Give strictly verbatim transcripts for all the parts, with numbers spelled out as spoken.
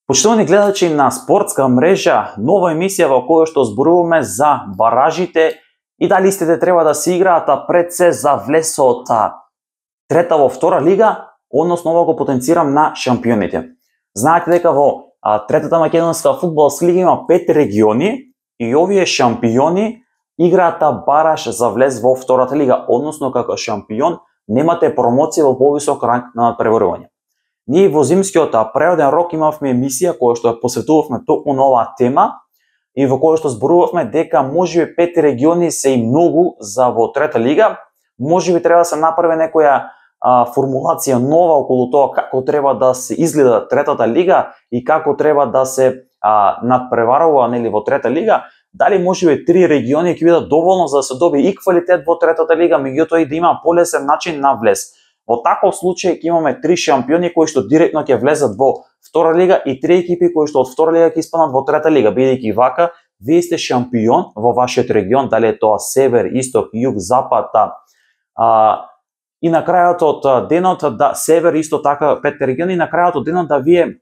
Почитувани гледачи на спортска мрежа, нова емисија во која што зборуваме за баражите и дали истите треба да се играат пред се за влесот трета во втора лига, односно ова го потенцирам на шампионите. Знаете дека во а, третата македонска фудбалска лига има пет региони и овие шампиони играат бараж за влез во втората лига, односно како шампион немате промоција во повисок ранг на надпреварување. Ние во зимскиот преводен рок имавме емисија која што ја посветувавме токму на оваа тема и во која што зборувавме дека можеби пет региони се и многу за во трета лига, можеби треба да се направи некоја а, формулација нова околу тоа како треба да се изгледа третата лига и како треба да се а, надпреварува нели во трета лига. Дали можеби три региони ќе бидат доволно за да се добие и квалитет во третата лига, меѓутоа и да има полесен начин на влез. Во таков случај ќе имаме три шампиони кои што директно ќе влезат во втора лига и три екипи кои што од втора лига ќе испаднат во трета лига, бидејќи вака вие сте шампион во вашиот регион, дали е тоа север, исток, југ, запад, а, и на крајот од денот да север исто така пет региони и на крајот од денот да вие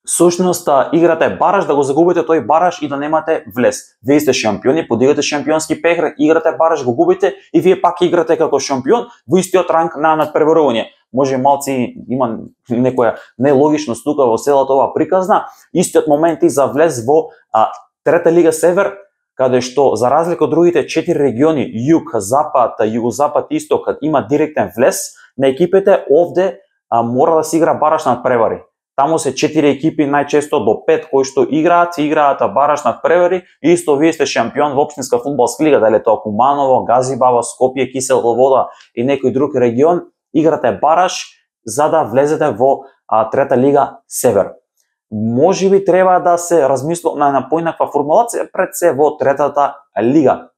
сушност играте бараж, да го загубите тој бараж и да немате влез. Вие сте шампиони, подигате шампионски пехар, играте бараж, го губите и вие пак играте како шампион во истиот ранг на надпреварување. Може малци има некоја нелогичност тука во целата оваа приказна. Истиот момент и за влез во а, трета лига север, каде што за разлика од другите четири региони, југ, запад, југозапад, исток, има директен влез на екипите, овде а, мора да се игра бараж надпревари. Таму се четири екипи, најчесто до пет кои што играат, играат бараж надпревари и исто вие сте шампион во општинска фудбалска лига, дали тоа Куманово, Газибаба, Скопје, Кисела Вода и некој друг регион, играте бараж за да влезете во а, трета лига север. Можеби треба да се размисли на, на поинаква формулација пред се во третата лига.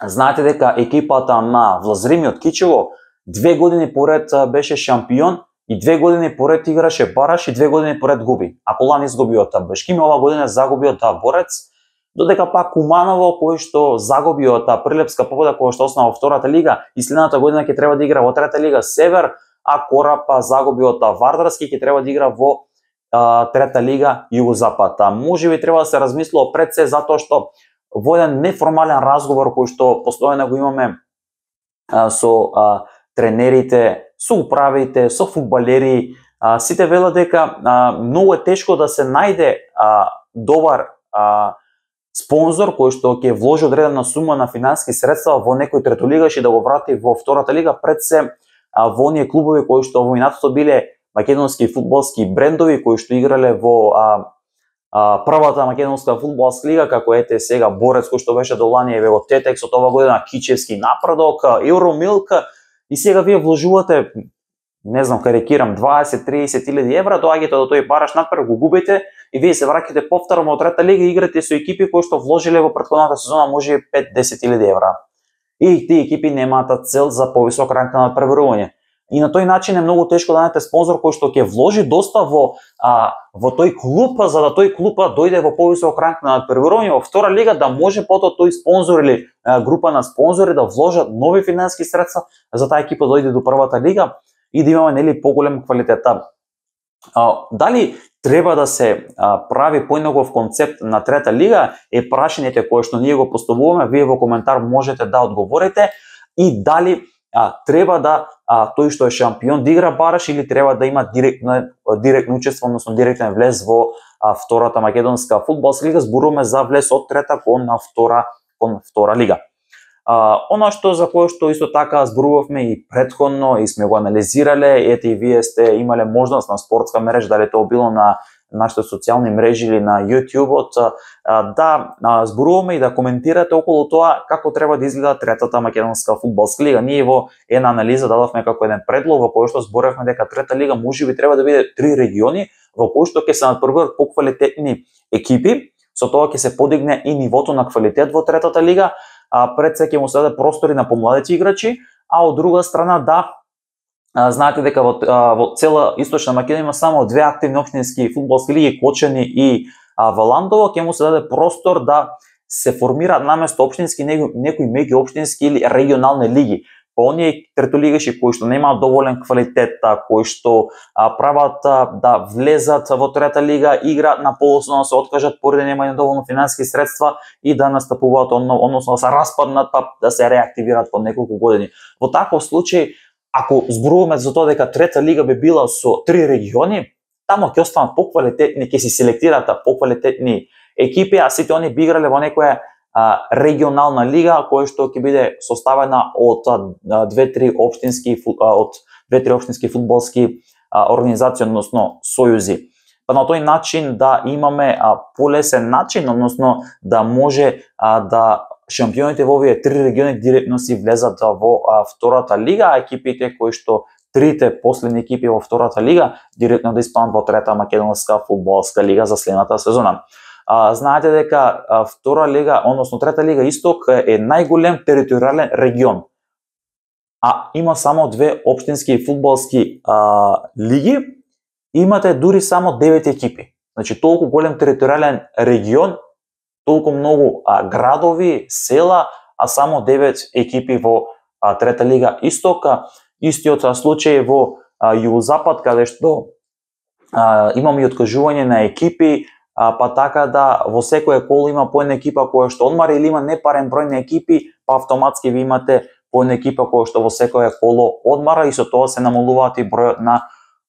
Знаете дека екипата на Влазрими од Кичево две години поред беше шампион и две години поред играше бараж и две години поред губи. Ако лани изгуби од Бешкими, ова година загуби од Борец, додека пак Куманово кој што загуби од Прилепска победа која што оснаа во втората лига и следната година ќе треба да игра во трета лига север, а Корап загуби од Вардарски ќе треба да игра во а, трета лига југозапад. Можеби треба да се размислува пред се затоа што во еден неформален разговор кој што постојано го имаме а, со а, тренерите, со управите, со фудбалери, а, сите велат дека а, многу е тешко да се најде а, добар а, спонзор кој што ќе вложи одредена сума на финансиски средства во некој третолигаш и да го врати во втората лига, пред се а, во оние клубови кои што во минатото биле македонски фудбалски брендови кои што играле во а, а, првата македонска фудбалска лига, како ете сега Борец кој што беше до лани, еве во Тетекс од ова година Кичевски Напредок, Евромилк. И сега вие вложувате, не знам, карикирам, дваесет до триесет илјади евра, доаѓате до тој бараж надпревар, го губите и вие се враќате повторно од трета лига и играте со екипи кои што вложиле во претходната сезона може пет до десет илјади евра. И тие екипи немаат цел за повисок ранг на надпреварување. И на тој начин е многу тешко да најдете спонзор кој што ќе вложи доста во а, во тој клуб, за да тој клуб дојде во повисок ранг на надпреварување во втора лига, да може потоа тој спонзор или а, група на спонзори да вложат нови финансиски средства за таа екипа дојде до првата лига и да имаме нели поголем квалитет. А, дали треба да се а, прави поинаков концепт на трета лига е прашањето кое што ние го поставуваме, вие во коментар можете да одговорите, и дали а, треба да а, тој што е шампион да игра бараж или треба да има директно директно учество, односно директен влез во а, втората македонска фудбалска лига. Зборуваме за влез од трета кон на втора кон втора лига. А, она што за кое што исто така зборувавме и претходно и сме го анализирале, ете и вие сте имале можност на спортска мрежа, дали тоа било на нашите социјални мрежи или на YouTube-от, да зборуваме и да коментирате околу тоа како треба да изгледа третата македонска фудбалска лига. Ние во една анализа дадовме како еден предлог во кој што зборевме дека трета лига можеби треба да биде три региони во кои што ќе се надпреваруваат поквалитетни екипи, со тоа ќе се подигне и нивото на квалитет во третата лига, а пред се ќе му се даде простори на помладите играчи, а од друга страна да А, знаете дека во, а, во цела Источна Македонија има само две активни општински фудбалски лиги, Кочани и а, Валандово, ќе му се даде простор да се формираат наместо општински некои, некои меѓу општински или регионални лиги. па оние третолигаши кои што немаат доволен квалитет, кои што а, прават а, да влезат во трета лига, играат на полусно, се откажат поради немање доволно финансиски средства и да настапуваат, односно да се распаднат, па да се реактивираат по неколку години. Во таков случај, ако зборуваме за тоа дека трета лига би била со три региони, тамо ќе останат поквалитетни, ќе се селектираат поквалитетни екипи, а сите они би играле во некоја а, регионална лига која што ќе биде составена од две-три општински од две-три општински фудбалски а, организации, односно сојузи. Па на тој начин да имаме а, полесен начин, односно да може а, да шампионите во овие три региони директно си влезат во а, втората лига, а екипите кои што трите последни екипи во втората лига директно да испаднат во трета македонска фудбалска лига за следната сезона. А, знаете дека а, втора лига, односно трета лига Исток е најголем територијален регион. А има само две општински фудбалски а, лиги, имате дури само девет екипи. Значи толку голем територијален регион, толку многу а, градови, села, а само девет екипи во а, трета лига Исток. Истиот случај во а, Југозапад, каде што а, имаме и откажување на екипи, а, па така да во секоја коло има по една екипа која што одмара или има непарен број на екипи, па автоматски ви имате по една екипа која што во секоја коло одмара и со тоа се намалуваат и бројот на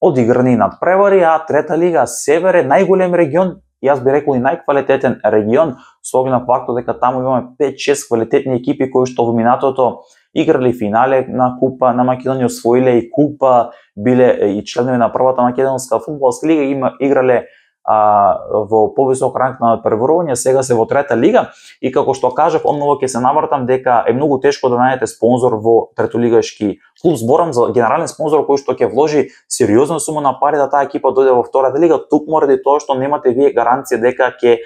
одиграни надпревари, а трета лига Север е најголем регион, јас би рекол и најквалитетен регион, со оглед на фактот дека таму имаме пет-шест квалитетни екипи кои што во минатото играли финале на Купа на Македонија, освоиле и Купа, биле и членови на првата македонска фудбалска лига, има играле а, во повисок ранг на прворување, сега се во трета лига и како што кажав, онново ќе се навртам дека е многу тешко да најдете спонзор во третолигашки клуб. Зборам за генерален спонзор кој што ќе вложи сериозна сума на пари да таа екипа дојде во втората лига, тукму ради тоа што немате вие гаранција дека ќе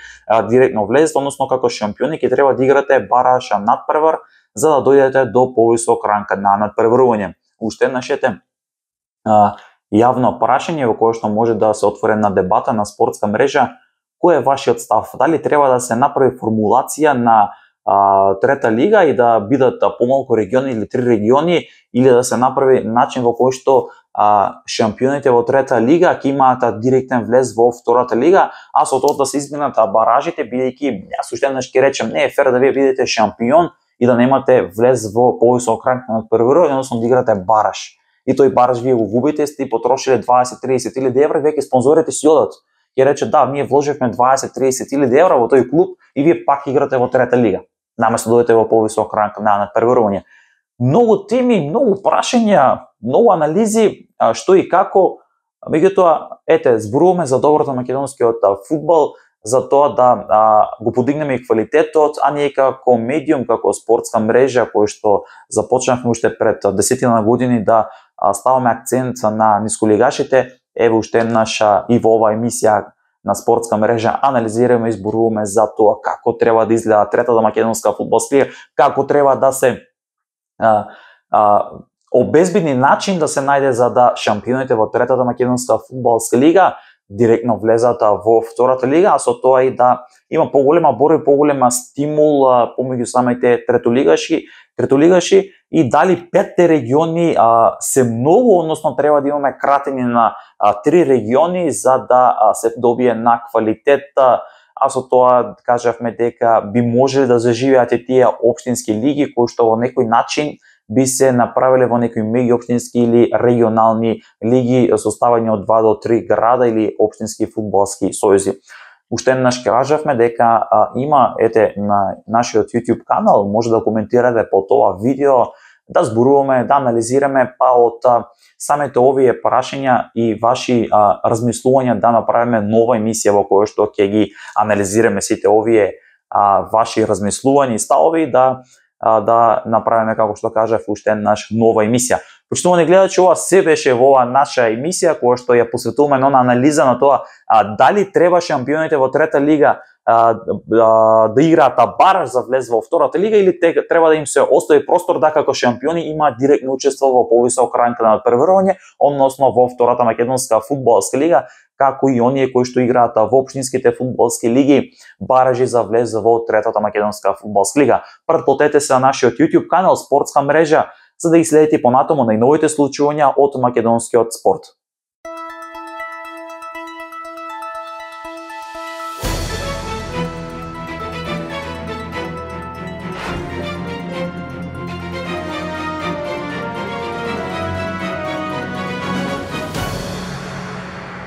директно влезете, односно како шампиони ќе треба да играте бараша надпревар за да дојдете до повисок ранг на надпреварување. Уште еднаш ете јавно прашање во кое што може да се отвори на дебата на спортска мрежа. Кој е вашиот став? Дали треба да се направи формулација на а, трета лига и да бидат а, помалку региони или три региони, или да се направи начин во кој што а, шампионите во трета лига ќе имаат директен влез во втората лига, а со тоа да се изминат баражите, бидејќи јас уште еднаш ќе речем не е фер да вие бидете шампион и да немате влез во повисок ранг на надпреварување, односно да играте бараж. И тој бараж вие го губите, сте потрошиле дваесет-триесет илјади евра, веќе спонзорите си одат. Ќе рече да, ние вложивме дваесет-триесет илјади евра во тој клуб и вие пак играте во трета лига. Наместо да дојдете во повисок ранг на надпреварување. Многу теми, многу прашања, многу анализи што и како. Меѓутоа, ете, зборуваме за доброто македонскиот фудбал, за тоа да а, го подигнеме и квалитетот, а ние како медиум, како спортска мрежа, кој што започнавме уште пред десетина години да а, ставаме акцент на нисколигашите, еве уште еднаша и во оваа емисија на спортска мрежа анализираме и зборуваме за тоа како треба да изгледа третата македонска фудбалска лига, како треба да се а, а, обезбедни начин да се најде за да шампионите во третата македонска фудбалска лига директно влезат во втората лига, а со тоа и да има поголема борба и поголема стимул помеѓу самите третолигаши, третолигаши и дали петте региони а, се многу, односно треба да имаме кратење на а, три региони за да а, се добие на квалитет, а со тоа кажавме дека би можеле да заживеат и тие општински лиги кои што во некој начин би се направиле во некои меѓуопштински или регионални лиги составени од два до три града или општински фудбалски сојузи. Уште еднаш кажавме дека а, има ете на нашиот YouTube канал, може да коментирате по тоа видео, да зборуваме, да анализираме па од а, самите овие прашања и ваши а, размислувања да направиме нова емисија во која што ќе ги анализираме сите овие а, ваши размислувања и ставови, да да направиме, како што кажав, уште еднаш нова емисија. Почитувани гледачи, ова се беше во оваа наша емисија која што ја посветуваме на анализа на тоа а, дали треба шампионите во трета лига а, а, да играат бараж за влез во втората лига или те, треба да им се остави простор да како шампиони имаат директно учество во повисок ранг на надпреварување, односно во втората македонска фудбалска лига, како и оние кои што играат во општинските фудбалски лиги баражи за влез во третата македонска фудбалска лига. Претплатете се на нашиот YouTube канал Спортска мрежа, за да ги следите понатаму најновите случувања од македонскиот спорт.